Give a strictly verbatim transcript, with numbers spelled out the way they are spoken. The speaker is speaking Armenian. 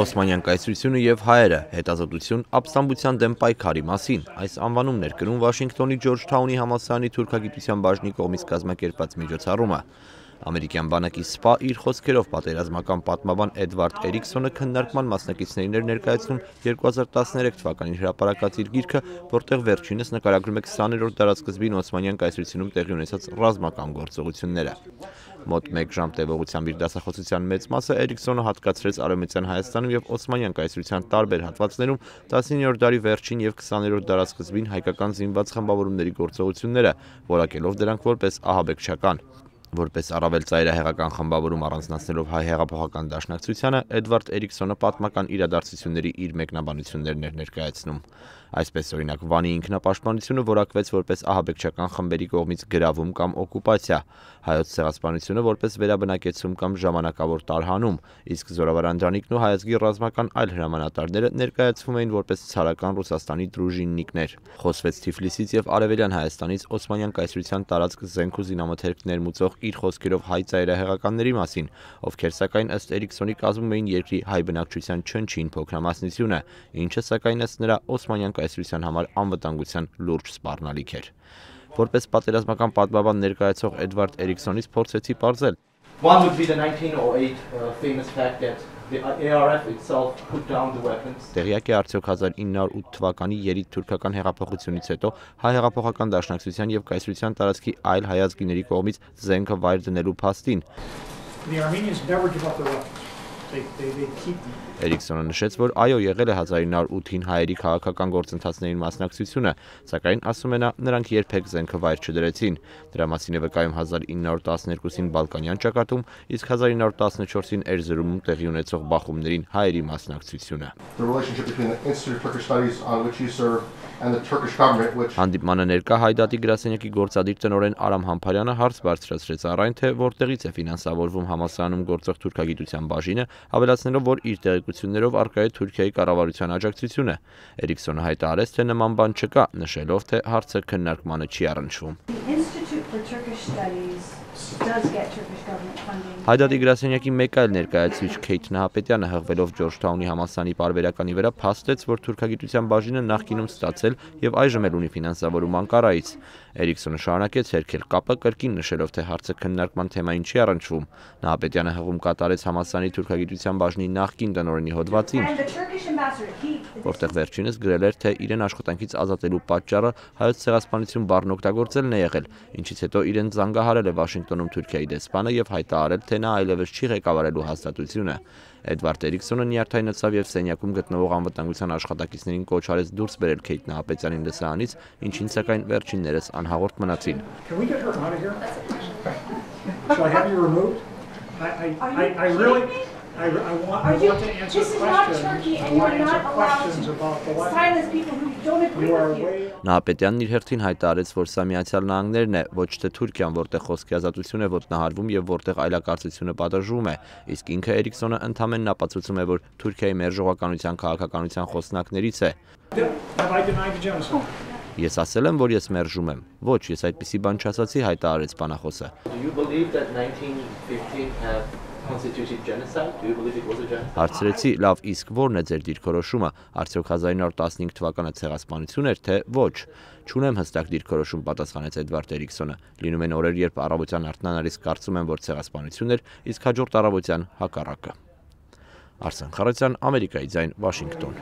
Օսմանյան կայսրությունը և հայերը, հետազոտություն ապստամբության դեմ պայքարի մասին։ Այս անվանումն էր կրում Վաշինգտոնի Ջորջթաունի համալսարանի թուրքագիտության բաժնի կողմից կազմակերպված միջոցառումը։ Ամերիկյան բանակի սպա իր խոսքերով պատերազմական պատմաբան Էդվարդ Էրիքսոնը քննարկման մասնակիցներին էր ներկայացնում երկու հազար տասներեք թվականին հրապարակած իր գիրքը, որտեղ վերջինս նկարագրում է քսաներորդ դարասկզբին Օսմանյան կայսրությունում տեղի ունեցած ռազմական գործողությունները։ Մոտ մեկ ժամ տևողությամբ իր դասախոսության մեծ մասը Էրիքսոնը հատկացրեց Արևմտյան Հայաստանում և Օսմանյան կայսրության տարբեր հատվածներում տասնիններորդ դարի վերջին և քսաներորդ դարասկզբին հայկական զինված խմբավորումների գործողությունները, որակելով դրանք որպես ահաբեկչական։ Որպես առավել ծայրահեղական խմբավորում առանձնացնելով հայ հեղափոխական դաշնակցությանը, Էդվարդ Էրիքսոնը պատմական իրադարձությունների իր մեկնաբանություններն էր ներկայացնում։ Այսպես օրինակ Վանի ինքնապաշտպանությունը որակվեց որպես ահաբեկչական խմբերի կողմից գրավում կամ օկուպացիա, հայոց ցեղասպանությունը որպես վերաբնակեցում կամ ժամանակավոր տարհանում, իսկ Զորավարանդրանիկն ու հայազգի ռազմական այլ հրամանատարները ներկայացվում էին որպես ցարական Ռուսաստանի դրուժիննիկներ։ Խոսվեց Թիֆլիսից և Արևելյան Հայաստանից Օսմանյան կայսրության տարածք զենք ու զինամթերք ներմուծող իր խոսքերով հայ ծայրահեղականների մասին, ովքեր սակայն ըստ Էրիքսոնի կազմում էին երկրի հայ բնակչության չնչին փոքրամասնությունը, ինչը սակայն ըստ նրա Օսմանյան կայսրության համար անվտանգության լուրջ սպառնալիք էր։ Որպես պատերազմական պատմաբան ներկայացող Էդվարդ Էրիքսոնից փորձեցի պարզել. Տեղյակ է արդյոք հազար ինը հարյուր ութ թվականի երիտ-թուրքական հեղափոխությունից հետո հայ հեղափոխական դաշնակցության և կայսրության տարածքի այլ հայազգիների կողմից զենքը վայր դնելու փաստին։ Էրիքսոնը նշեց, որ այո, եղել է հազար ինը հարյուր ութին հայերի քաղաքական գործընթացներին մասնակցությունը, սակայն ասում է նա, նրանք երբեք զենքը վայր չդրեցին։ Դրա մասին է վկայում հազար ինը հարյուր տասներկուսին Բալկանյան ճակատում, իսկ հազար ինը հարյուր տասնչորսին Էրզրումում տեղի ունեցող բախումներին հայերի մասնակցությունը։ Հանդիպմանը ներկա Հայ դատի գրասենյակի գործադիր տնօրեն Արամ Համբարյանը հարց բարձրացրեց առ այն, թե որտեղից է ֆինանսավորվում համալսարանում գործող թուրքագիտության բաժինը, ավելացնելով, որ իր տեղեկություններով առկա է Թուրքիայի կառավարության աջակցությունը։ Էրիքսոնը հայտարարեց, թե նման բան չկա, նշելով, թե հարցը քննարկմանը չի առնչվում։ Հայ դատի գրասենյակի մեկ այլ ներկայացուցիչ Քեյթ Նահապետյանը հղվելով Ջորջթաունի համալսարանի պարբերականի վրա փաստեց, որ թուրքագիտության բաժինը նախկինում ստացել և այժմ էլ ունի ֆինանսավորում Անկարայից։ Էրիքսոնը շարունակեց հերքել կապը, կրկին նշելով, թե հարցը քննարկման թեմային չի առնչվում։ Նահապետյանը հղում կատարեց համալսարանի թուրքագիտության բաժնի նախկին տնօրենի հոդվածին, որտեղ վերջինս գրել էր, թե իրեն աշխատանքից ազատելու պատճառը հայոց ցեղասպանություն բառն օգտագործելն է եղել, ինչից հետո իրեն զանգահարել է Վաշինգտոնում Թուրքիայի դեսպանը և հայտարարել, թե նա այլևս չի ղեկավարելու հաստատությունը։ Էդվարդ Էրիքսոնը նյարդայնացավ և սենյակում գտնվող անվտանգության աշխատակիցներին կոչ արեց դուրս բերել Քեյթ Նահապետյանին լսարանից, ինչին սակայն վերջիններս անհաղորդ մնացին։ Նահապետյանն իր հերթին հայտարարեց, որ սա Միացյալ Նահանգներն է, ոչ թե Թուրքիան, որտեղ խոսքի ազատություն է ոտնահարվում և որտեղ այլակարծությունը պատժվում է, իսկ ինքը Էրիքսոնը ընդամենն ապացուցում է, որ Թուրքիայի մերժողականության քաղաքականության խոսնակներից է։ Ես ասել եմ, որ ես մերժում եմ։ Ոչ, ես այդպիսի բան չասացի, հայտարարեց բանախոսը։ Հարցրեցի, լավ, իսկ ո՞րն է ձեր դիրքորոշումը, արդյոք հազար ինը հարյուր տասնհինգ թվականը ցեղասպանություն էր, թե ոչ։ Չունեմ հստակ դիրքորոշում, պատասխանեց Էդվարդ Էրիքսոնը։ Լինում են օրեր, երբ առավոտյան արթնանալիս կարծում եմ, որ ցեղասպանություն էր, իսկ հաջորդ առավոտյան հակառակը։ Արսեն Խառատյան, Ամերիկայի ձայն, Վաշինգտոն։